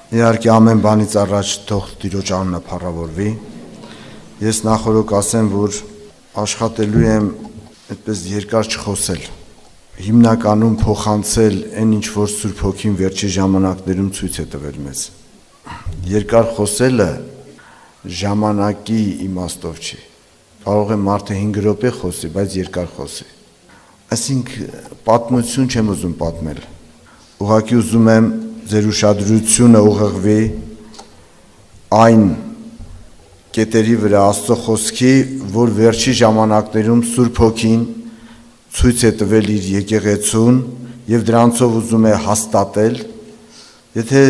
Իհարկե ամեն բանից առաջ թող Տիրոջ անունը փառավորվի։ Ես նախորդ ասեմ, որ աշխատելու եմ այդպես երկար չխոսել, հիմնականում փոխանցել այն ինչ որ Սուրբ Հոգին վերջի ժամանակներում ցույց է տվել մեզ։ Երկար խոսելը ժամանակի իմաստով չի։ Կարող է մարդը 5 րոպե խոսի, բայց երկար խոսի։ Այսինքն պատմություն չեմ ուզում պատմել։ Ուղղակի ուզում եմ ձեր ուշադրությունը ուղղվի այն կետերի վրա Աստծո խոսքի, որ վերջի ժամանակներում Սուրբ Հոգին ցույց է տվել իր եկեղեցուն եւ դրանցով ուզում է հաստատել։ Եթե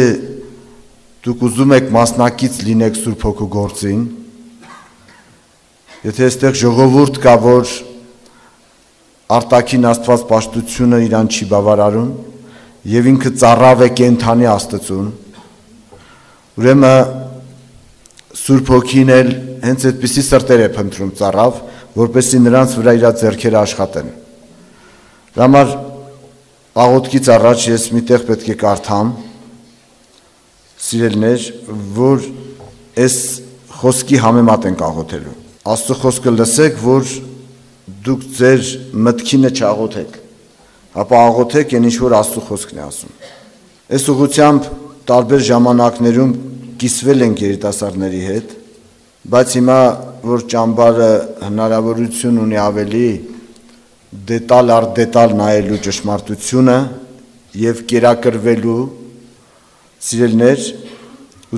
դուք ուզում եք մասնակից լինեք Սուրբ Հոգու գործին, եթե այստեղ ժողովուրդ կա, որ արտաքին Աստված պաշտությունը իրան չի բավարարում եւ ինքը ծառավ է կենթանի Աստծուն, ուրեմն Սուրբ Հոգին էլ հենց այդպիսի սրտեր է փնտրում ծառավ, որպեսզի նրանց վրա իր ձեռքերը աշխատեն։ Դրա համար աղոթքից առաջ ես միտեղ պետք է կարդամ, սիրելիներ, որ այս խոսքի համեմատ ենք աղոթելու։ Աստծո խոսքը լսեք, որ դուք ձեր մտքինը չաղոթեք, ապա աղոթեք այն ինչ որ Աստծո խոսքն է ասում։ Այս ուղղությամբ տարբեր ժամանակներում կիսվել ենք երիտասարդների հետ, բայց հիմա որ ճամբարը հնարավորություն ունի ավելի դետալ առ դետալ նայելու ճշմարտությունը եւ կերակրվելու, սիրելիներ,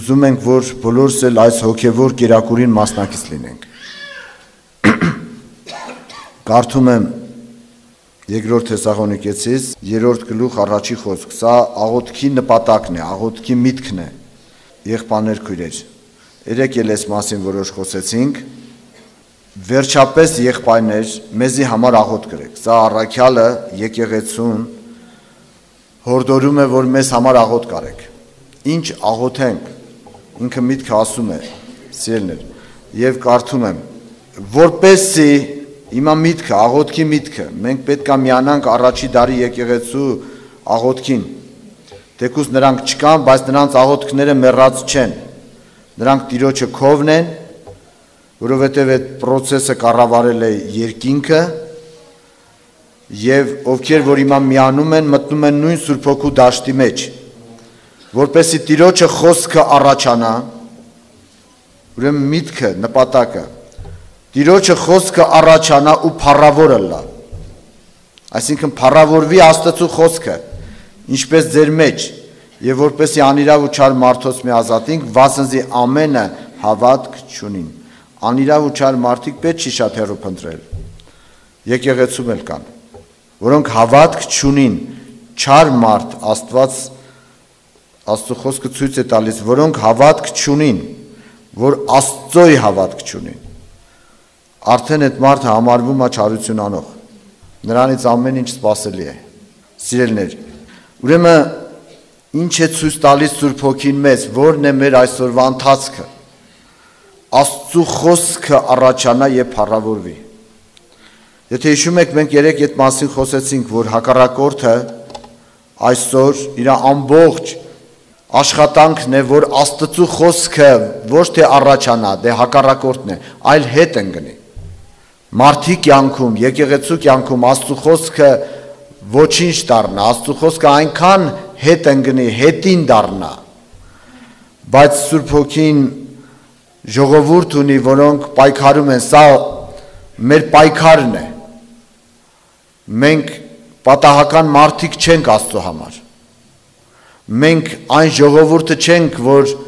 ուզում ենք որ բոլորս էլ այս հոգեվոր կերակուրին մասնակից լինենք։ Կարդում եմ Երկրորդ Թեսաղոնիկեցիս 3-րդ գլուխ առաջի խոսք, սա աղոթքի նպատակն է, աղոթքի միտքն է, եղբայրներ քույրեր։ Երեք էլ այս մասին որոշ խոսեցինք, վերջապես եղբայրներ, մեզի համար աղոթ կրեք։ Սա առաքյալը եկեղեցուն հորդորում է, որ մեզ համար աղոթ կարեք։ Ինչ աղոթենք, ինքը միտքը ասում է, սիրելիներ, եւ կարդում եմ, որպեսզի Հիմա միտքը, աղոթքի միտքը, մենք պետք է միանանք առաջի դարի եկեղեցու աղոթքին, թեկուզ նրանք չկան, բայց նրանց աղոթքները մեռած չեն, նրանք Տիրոջը քովն են, որովհետև այդ պրոցեսը կառավարել է երկինքը, եւ ովքեր որ հիմա միանում են, մտնում են նույն Սուրբ Հոգու դաշտի մեջ, որպեսզի Տիրոջը խոսքը առաջանա, ուրեմն միտքը, նպատակը Տիրոջը խոսքը առաջանա ու փառավորը լա։ Այսինքն փառավորվի Աստծո խոսքը, ինչպես ձեր մեջ, եւ որպեսզի անիրավ ու չար մարդոց մի ազատենք, վասնզի ամենը հավատք չունին։ Անիրավ ու չար մարդիկ պետք չի շատ հեռու փնտրել։ Եկեղեցում էլ կան, որոնք հավատք չունին, չար մարդ Աստծո խոսքը ցույց է տալիս, որոնք հավատք չունին, որ Աստծոյի հավատք չունին։ Արդեն այդ մարդը համարվում է չարություն անող, նրանից ամեն ինչ սպասելի է, սիրելիներ, ուրեմն ինչ է ցույց տալիս Սուրբ Հոգին մեզ, որն է մեր այսօրվա ընթացքը, Աստծո խոսքը առաջանա եւ փառավորվի։ Եթե հիշում եք, մենք երեք այդ մասին խոսեցինք, որ հակառակորդը այսօր իր ամբողջ աշխատանքն է, որ Աստծո խոսքը ոչ թե առաջանա, դե հակառակորդն է, այլ հետ ընկնի։ Մարդի կյանքում, եկեղեցու կյանքում Աստծո խոսքը ոչինչ դառնա, Աստծո խոսքը այնքան հետ ընկնի, հետին դառնա, բայց Սուրբ Հոգին ժողովուրդ ունի, որոնք պայքարում են, սա մեր պայքարն է, մենք պատահական մարդիկ չենք Աստծո համար, մենք այն ժողովուրդը չենք, որ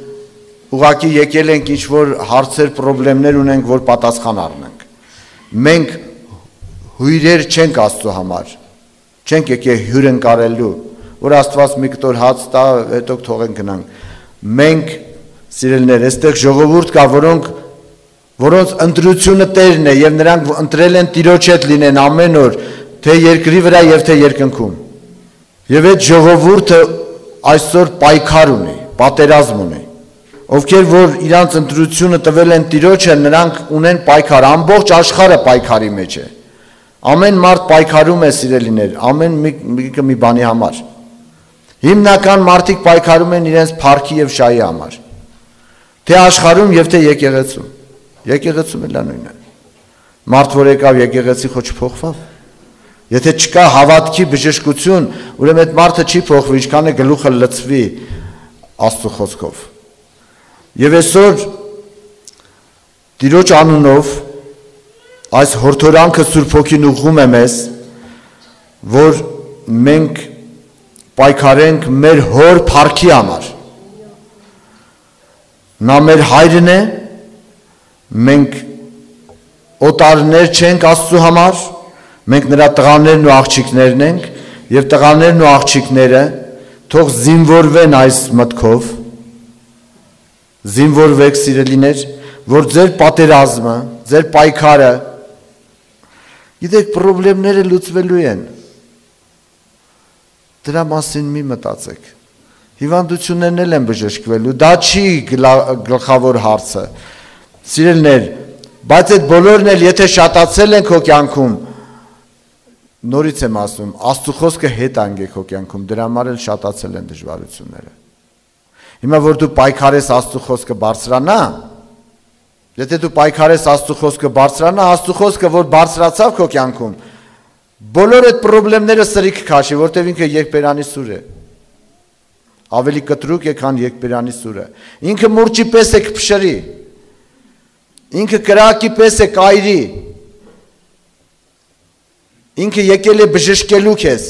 ուղղակի եկել ենք ինչ-որ հարցեր, պրոբլեմներ ունենք, որ պատասխան առնենք, մենք հյուրեր չենք Աստծո համար, չենք եկել հյուրընկալելու, որ Աստված մի կտոր հաց տա, հետո թողենք գնանք, մենք սիրելիներ, այստեղ ժողովուրդ կա, որոնց ընտրությունը Տերն է եւ նրանք ընտրել են Տիրոջ հետ լինեն ամեն օր, թե երկրի վրա եւ թե երկնքում։ Եվ այդ ժողովուրդը այսօր պայքար ունի, պատերազմ ունի։ Ովքեր որ իրանց ընտրությունը տվել են Տիրոջը, նրանք ունեն պայքար, ամբողջ աշխարհը պայքարի մեջ է։ Ամեն մարդ պայքարում է, սիրելիներ, ամեն մեկը մի բանի համար։ Հիմնական մարդիկ պայքարում են իրենց փառքի եւ շահի համար։ Թե աշխարհում եւ թե եկեղեցում։ Եկեղեցում էլ նույնն է։ Մարդ որ եկավ եկեղեցի խո չփոխվավ։ Եթե չկա հավատքի բժշկություն, ուրեմն այդ մարդը չի փոխվի, ինչքան է գլուխը լցվի Աստծո խոսքով։ Եվ այսօր Տիրոջ անունով այս հորդորանքը Սուրբ Հոգին ուղղում է մեզ, որ մենք պայքարենք մեր հոր փառքի համար։ Նա մեր հայրն է, մենք օտարներ չենք Աստծո համար, մենք նրա տղաներն ու աղջիկներն ենք, եւ տղաներն ու աղջիկները թող զինվորվեն այս մտքով, զինվորվեք սիրելիներ, որ ձեր պատերազմը, ձեր պայքարը, գիտեք, խնդիրները լուծվելու են։ Դրա մասին մի մտածեք։ Հիվանդություններն էլ են բժշկվելու, դա չի գլխավոր հարցը։ Սիրելիներ, բայց այդ բոլորն էլ եթե շատացել են քո կյանքում, նորից եմ ասում, Աստծո խոսքը հետ անգեք քո կյանքում, դրա համար էլ շատացել են դժվարությունները։ Հիմա որ դու պայքարես Աստծո խոսքը բարձրանա, եթե դու պայքարես Աստծո խոսքը բարձրանա, Աստծո խոսքը որ բարձրացավ քո կյանքում, բոլոր այդ խնդիրները սրիկ քաշի, որտեղ ինքը երկբերանի սուր է։ Ավելի կտրուկ է, քան երկբերանի սուրը։ Ինքը մուրճի պես է կփշրի։ Ինքը կրակի պես է կայրի։ Ինքը եկել է բժշկելու քեզ։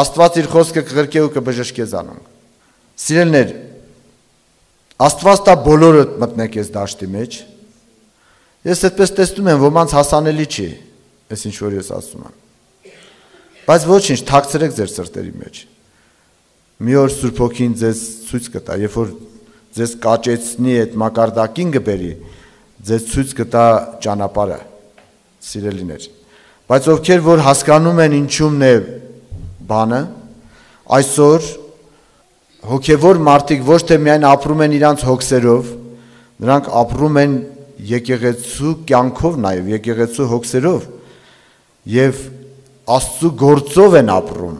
Աստված իր խոսքը կղրկե ու կբժշկե զանում։ Սիրելիներ, Աստված տա բոլորը մտնեք ես դաշտի մեջ։ Ես այդպես տեսնում եմ, ոմանց հասանելի չի, այս ինչ որ ես ասում եմ։ Բայց ոչինչ, թաքցրեք ձեր սրտերի մեջ։ Մի օր Սուրբ Հոգին ձեզ ցույց կտա, երբ որ ձեզ կաճեցնի այդ մակարդակին գբերի, ձեզ ցույց կտա ճանապարհը, սիրելիներ։ Բայց ովքեր որ հասկանում են ինչումն է բանը, այսօր հոգևոր մարդիկ ոչ թե միայն ապրում են իրանց հոգսերով, նրանք ապրում են եկեղեցու կյանքով նաև, եկեղեցու հոգսերով եւ Աստծո գործով են ապրում։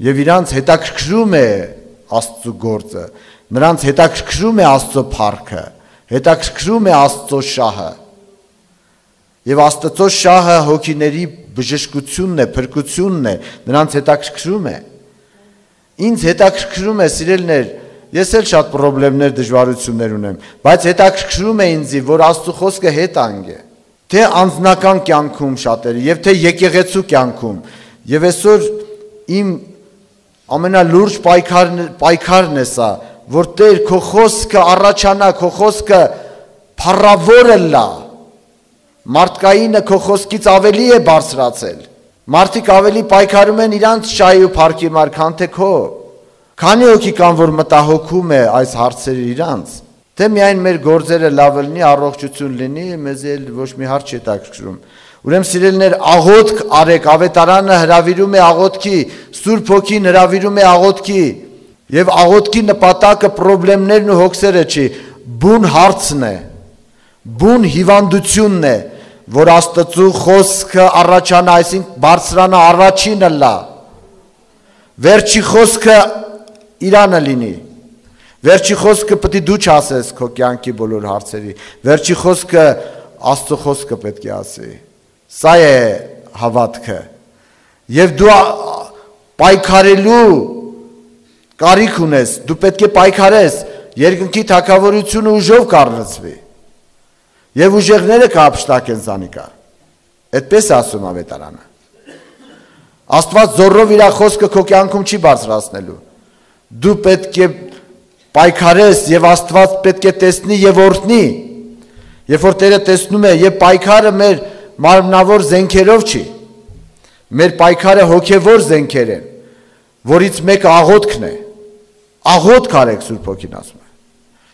Եվ իրանց հետաքրքրում է Աստծո գործը, նրանց հետաքրքրում է Աստծո փառքը, հետաքրքրում է Աստծո շահը։ Եվ Աստծո շահը հոգիների բժշկությունն է, փրկությունն է, նրանց հետաքրքրում է։ Ինձ հետաքրքրում է, սիրելիներ, ես էլ շատ խնդիրներ, դժվարություններ ունեմ, բայց հետաքրքրում է ինձ, որ Աստծո խոսքը հետ անգե, թե անձնական կյանքում շատերի, եւ թե եկեղեցու կյանքում։ Եվ այսօր իմ ամենալուրջ պայքարն է սա, որ Տեր քո խոսքը առաջանա, քո խոսքը փառավորը լա։ Մարդկայինը քո խոսքից ավելի է բարձրացել։ Մարդիկ ավելի պայքարում են իրանց շահի ու փառքի համար, քան թե քո։ Քանի հոգի կան, որ մտահոգում է այս հարցերը իրանց, թե միայն մեր գործերը լավ լինի, առողջություն լինի, մեզ էլ ոչ մի հարց չի հետաքրքրում։ Ուրեմն սիրելիներ, աղոթք արեք, ավետարանը հրավիրում է աղոթքի, Սուրբ Հոգին հրավիրում է աղոթքի, եւ աղոթքի նպատակը խնդիրներն ու հոգսերը չի, բուն հարցն է, բուն հիվանդությունն է, որ Աստծո խոսքը առաջանա, այսինքն բարձրանա, առաջինը լա։ Վերջի խոսքը Իրանը լինի։ Վերջի խոսքը պետք է դու չասես քո կյանքի բոլոր հարցերի։ Վերջի խոսքը Աստծո խոսքը պետք է ասի։ Սա է հավատքը։ Եվ դու պայքարելու կարիք ունես, դու պետք է պայքարես, երկնքի թագավորությունը ուժով կառնցվի։ Եվ ուժեղները կհափշտակեն զանիկա։ Այդպես ասում ավետարանը։ Աստված զորով իր խոսքը քո կյանքում չի բարձրացնելու։ Դու պետք է պայքարես եւ Աստված պետք է տեսնի եւ օրհնի։ Երբ որ Տերը տեսնում է, եւ պայքարը մեր մարմնավոր զենքերով չի։ Մեր պայքարը հոգեվոր զենքեր են, որից մեկը աղոթքն է։ Աղոթք արեք, Սուրբ Հոգին ասում է։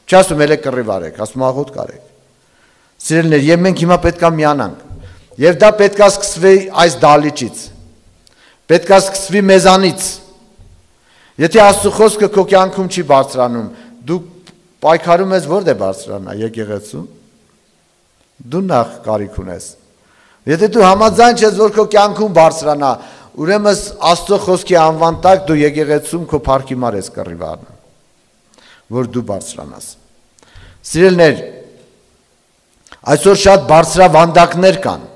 Չասում էլ է կռիվ արեք, ասում աղոթք արեք։ Սիրելիներ, եւ մենք հիմա պետքա միանանք։ Եվ դա պետքա սկսվի այս դալիճից։ Պետքա սկսվի մեզանից։ Եթե Աստծո խոսքը քո կյանքում չի բարձրանում, դու պայքարում ես որտե բարձրանա, եկեղեցու։ Դու նախ կարիք ունես։ Եթե դու համաձայն ես, որ քո կյանքում բարձրանա, ուրեմն Աստծո խոսքի անվան տակ դու եկեղեցում քո փառքի մար ես կռիվ առնում, որ դու բարձրանաս։ Սիրելիներ, այսօր շատ բարձրավանդակներ կան,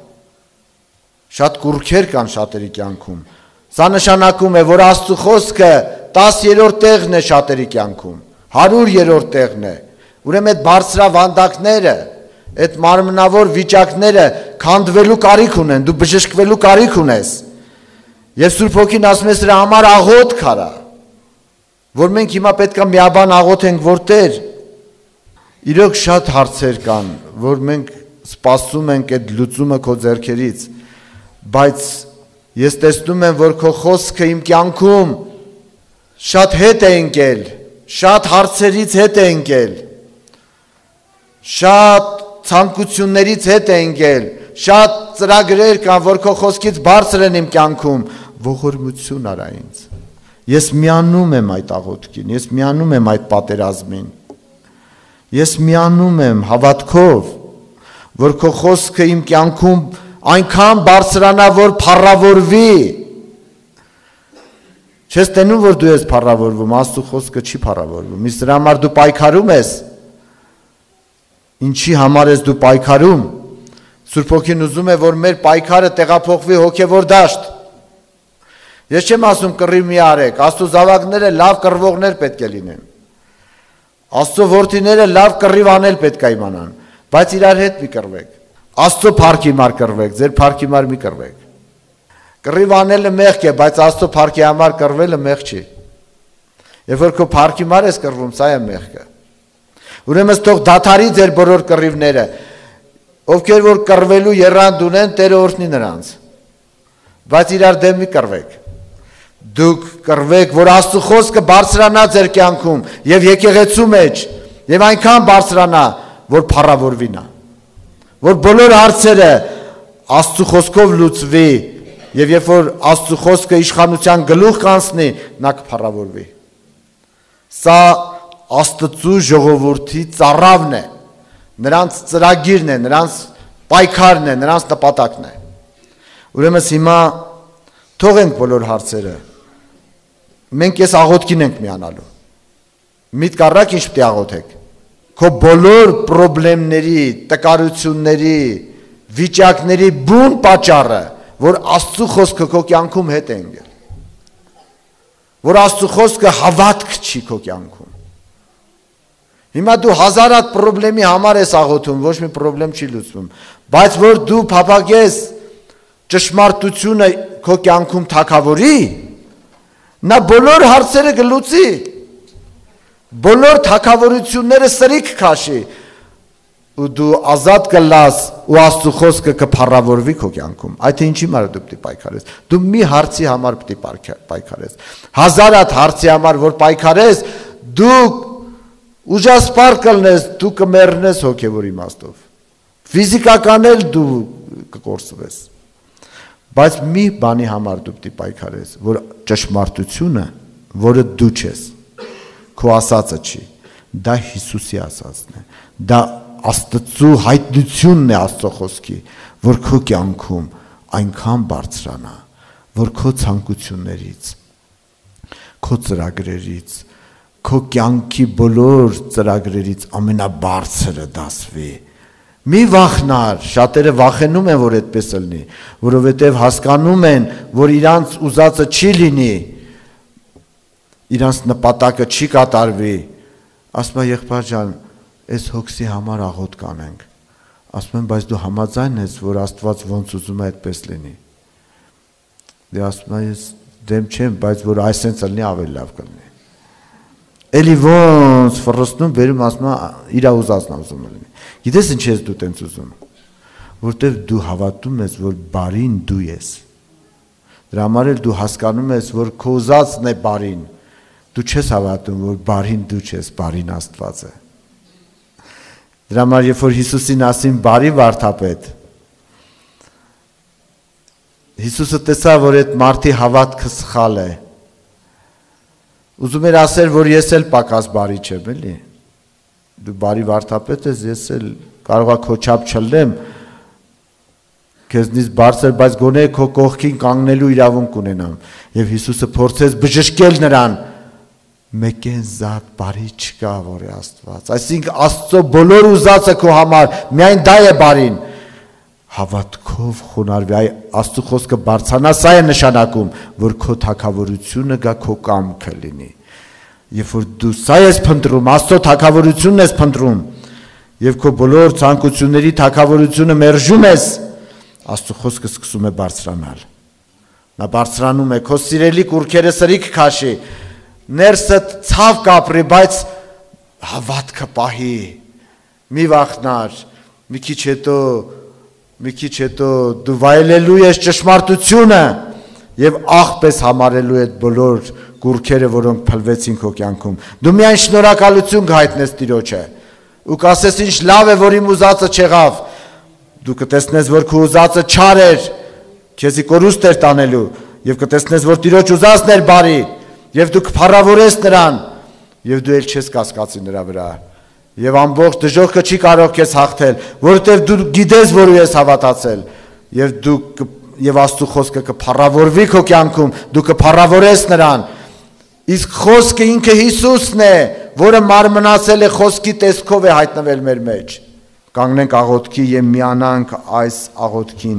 շատ կուռքեր կան շատերի կյանքում։ Սա նշանակում է, որ Աստծո խոսքը 10-րդ տեղն է շատերի կյանքում, 100-րդ տեղն է։ Ուրեմն այդ բարձրավանդակները, այդ մարմնավոր վիճակները քանդվելու կարիք ունեն, դու բժշկվելու կարիք ունես։ Եվ Սուրբ Հոգին ասում է սրա համար աղոթք արա, որ մենք հիմա պետք է միաբան աղոթենք, որ Տեր, իրոք շատ հարցեր կան, որ մենք սպասում ենք այդ լուծումը քո ձեռքերից, բայց ես տեսնում եմ, որ քո խոսքը իմ կյանքում շատ հետ է ընկել, շատ հարցերից հետ է ընկել, շատ ցանկություններից հետ է ընկել, շատ ծրագրեր կան, որ քո խոսքից բարձր են իմ կյանքում, ողորմություն արա ինձ։ Ես միանում եմ այդ աղոթքին, ես միանում եմ այդ պատերազմին, ես միանում եմ հավատքով, որ քո խոսքը իմ կյանքում այնքան բարձրանա, որ փառավորվի։ Չես տենում, որ դու ես փառավորվում, Աստծո խոսքը չի փառավորվում, իսկ դրա համար դու պայքարում ես։ Ինչի համար ես դու պայքարում։ Սուրբ Հոգին ուզում է, որ մեր պայքարը տեղափոխվի հոգևոր դաշտ։ Ես չեմ ասում կռիվ մի արեք, Աստծո զավակները լավ կռվողներ պետք է լինեն։ Աստծո որդիները լավ կռիվ անել պետք է իմանան, բայց իրար հետ մի կռվեք։ Աստծո փառքի համար կռվեք, ձեր փառքի համար մի կռվեք։ Կռիվ անելը մեղք է, բայց Աստծո փառքի համար կռվելը մեղք չի։ Երբ որ քո փառքի համար ես կռվում, սա է մեղքը։ Ուրեմն թող դադարի ձեր բոլոր կռիվները, ովքեր որ կռվելու եռանդ ունեն, Տերը օրհնի նրանց։ Բայց իրար դեմ մի կռվեք։ Դուք կռվեք, որ Աստծո խոսքը բարձրանա ձեր կյանքում եւ եկեղեցու մեջ, եւ այնքան բարձրանա, որ փառավորվի նա, որ բոլոր հարցերը Աստծո խոսքով լուծվի, եւ երբ որ Աստծո խոսքը իշխանության գլուխ կանցնի, նա կփառավորվի։ Սա Աստծո ժողովրդի ծառավն է, նրանց ծրագիրն է, նրանց պայքարն է, նրանց նպատակն է։ Ուրեմն հիմա թողենք բոլոր հարցերը։ Մենք այս աղոթքին ենք միանալու։ Միտք առակ ինչ պետք է աղոթեք։ Քո բոլոր խնդիրների, տկարությունների, վիճակների բուն պատճառը, որ Աստծո խոսքը քո կյանքում հետ է ընկել։ Որ Աստծո խոսքը հավատք չի քո կյանքում։ Հիմա դու հազարատ խնդրի համար ես աղոթում, ոչ մի խնդրեմ չի լուծվում, բայց որ դու փափագես ճշմարտությունը քո կյանքում թակավորի, նա բոլոր հարցերը կլուծի, բոլոր թակավորությունները սրիկ քաշի, ու դու ազատ կլաս ու Աստծո խոսքը կփառավորվի քո կյանքում։ Այդ ինչի համար դու պետք է պայքարես։ Դու մի հարցի համար պետք է պայքարես։ Հազարատ հարցի համար որ պայքարես, դու ուժասպառ կլնես, դու կմեռնես հոգևոր իմաստով։ Ֆիզիկական էլ դու կկորսվես։ Բայց մի բանի համար դու պետք է պայքարես, որ ճշմարտությունը, որը դու ես, քո ասածը չի, դա Հիսուսի ասածն է, դա Աստծո հայտնությունն է Աստծո խոսքի, որ քո կյանքում այնքան բարձրանա, որ քո ցանկություններից, քո ծրագրերից, քո կյանքի բոլոր ծրագրերից ամենաբարձրը դասվի։ Մի վախնար, շատերը վախենում են, որ այդպես լինի, որովհետև հասկանում են, որ իրանց ուզածը չի լինի, իրանց նպատակը չի կատարվի։ Ասում եմ, եղբայր ջան, այս հոգսի համար աղոթք կանենք։ Ասում եմ, բայց դու համաձայն ես, որ Աստված ոնց ուզում է այդպես լինի։ Դե ասում եմ, ես դեմ չեմ, բայց որ այսպես լինի ավելի լավ կլինի։ Էլի ոնց ֆռստում բերում ասում իր ուզածն ուզում լինի։ Գիտես ինչ ես դու տենց ուզում, որտեվ դու հավատում ես, որ բարին դու ես։ Դրա համար էլ դու հասկանում ես, որ քո ուզածն է բարին։ Դու չես հավատում, որ բարին դու ես, բարին Աստված է։ Դրա համար երբ որ Հիսուսին ասին բարի վարդապետ, Հիսուսը տեսա, որ այդ մարդի հավատքը սխալ է։ Ուզում էր ասել, որ ես էլ պակաս բարի չեմ, էլի։ Դու բարի վարդապետ ես, ես էլ կարող է քո չափ չլնեմ, քեզնից բարձր, բայց գոնե քո կողքին կանգնելու իրավունք ունենամ։ Եվ Հիսուսը փորձեց բժշկել նրան։ Մեկեն զատ բարի չկա, որ է Աստված։ Այսինքն Աստծո բոլոր ուզածը քո համար միայն դա է բարին։ Հավատքով խոնարհվի, այ Աստծո խոսքը բարձրանա, սա է նշանակում, որ քո թագավորությունը գա քո կամքը լինի։ Երբ որ դու սա ես փնտրում, Աստծո թագավորությունն ես փնտրում, եւ քո բոլոր ցանկությունների թագավորությունը մերժում ես, Աստծո խոսքը սկսում է բարձրանալ։ Նա բարձրանում է, քո սիրելի կուրքերը սրիկ քաշի, ներսը ցավ կապրի, բայց հավատքը պահի։ Մի վախնար, մի քիչ հետո դու վայելելու ես ճշմարտությունը եւ աղպես համարելու այդ բոլոր կուրքերը, որոնք փլվեցին քո կյանքում։ Դու միայն շնորհակալություն կհայտնես Տիրոջը։ Ու կասես ինչ լավ է, որ իմ ուզածը չեղավ։ Դու կտեսնես, որ քո ուզածը չար էր, քեզի կորուստ էր տանելու, եւ կտեսնես, որ Տիրոջ ուզածն էր բարի, եւ դու կփառավորես նրան, եւ դու ել չես կասկածի նրա վրա։ Եվ ամբողջ դժոխքը չի կարող քեզ հաղթել, որովհետև դու գիտես, որ ես հավատացել, եւ Աստծո խոսքը կփառավորվի քո կյանքում, դու կփառավորես նրան։ Իսկ խոսքը ինքը Հիսուսն է, որը մարմնացել է, խոսքի տեսքով է հայտնվել մեր մեջ։ Կանգնենք աղոթքի եւ միանանք այս աղոթքին։